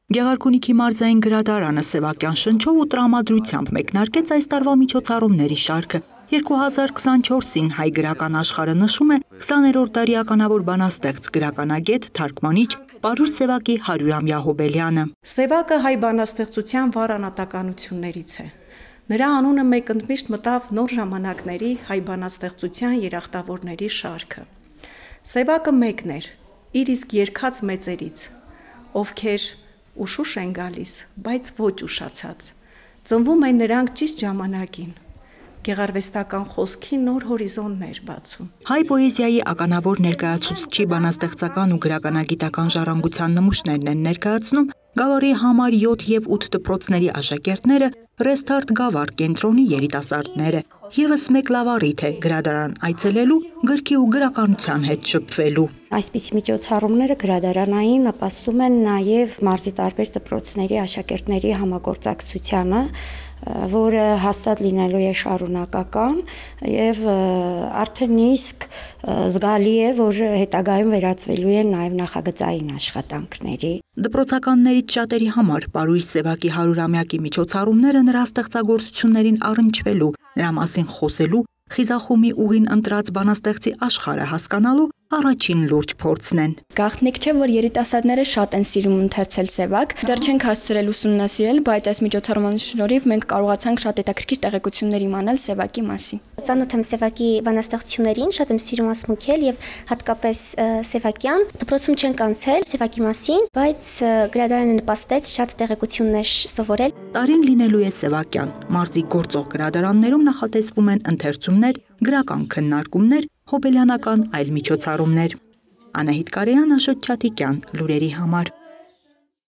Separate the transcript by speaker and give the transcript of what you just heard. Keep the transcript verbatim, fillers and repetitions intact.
Speaker 1: Գեղարքունիքի մարզային գրադարանը Սևակյան շնչով ու տրամադրությամբ մեկնարկեց այս տարվա միջոցառումների շարքը։ երկու հազար քսանչորսին հայ գրական աշխարհը նշում է քսաներորդ դարի ականավոր բանաստեղծ գրականագետ թարգմանիչ Պարուր Սևակի հարյուրամյա հոբելյանը։
Speaker 2: Սևակը հայ բանաստեղծության վառ անհատականություններից է։ Նրա անունը մեկընդմիշտ մտավ նոր ժամանակների հայ բանաստեղծության երախտավորների շարքը։ Սևակը մեկն էր, իր իսկ երգած մեծերից, ովքեր ուշուշ են գալիս, բայց ոչ ուշացած։ Ծնվում են նրանք ճիշտ ժամանակին։ Գեղարվեստական խոսքի նոր հորիզոններ բացում։
Speaker 1: Հայ պոեզիայի ականավոր ներկայացուցչի բանաստեղծական ու գրականագիտական ժառանգության նմուշներն են ներկայացնում Գավառի համար յոթ և ութ դպրոցների աշակերտները, Ռեսթարտ Գավառ կենտրոնի երիտասարդները։ Եվս մեկ լավ առիթ է գրադարան այցելելու, գրքի ու գրականության հետ շփվելու։
Speaker 3: Այսպիսի միջոցառումները գրադարանային նպաստում են նաև մարզի տարբեր դպրոցների աշակերտների համագործակցությանը, որը հաստատ լինելու է շարունակական եւ արդեն իսկ զգալի է, որ հետագայում վերածվելու են նաև նախագծային աշխատանքների։
Speaker 1: Դպրոցականներից շատերի համար Պարուր Սևակի հարյուրամյակի միջոցառումները նրա ստեղծագործություններին առնչվելու, նրա մասին խոսելու, խիզախումի ուղին ընտրած բանաստեղծի աշխարհը հասկանալու առաջին լուրջ փորձն են։
Speaker 4: Գաղտնիք չէ, որ երիտասարդները շատ են սիրում ընթերցել Սևակ, դեռ չենք հասցրել ուսումնասիրել, բայց այս միջոցառումների շնորհիվ մենք կարողացանք շատ հետաքրքիր տեղեկություններ իմանալ Սևակի մասին։
Speaker 5: Ծանոթ եմ Սևակի բանաստեղծություններին, շատ եմ սիրում ասմունքել եւ հատկապես Սևակյան։ Դպրոցում չենք անցել Սևակի մասին, բայց գրադարանը նպաստեց շատ տեղեկություններ սովորել։
Speaker 1: Տարին լինելու է Սևակյան։ Մարզի գործող գրադարաններում նախատեսվում են ընթերցումներ, գրական քննարկումներ, հոբելյանական այլ միջոցառումներ։ Անահիտ Կարեյան, Աշոտ Չաթիկյան, լուրերի համար։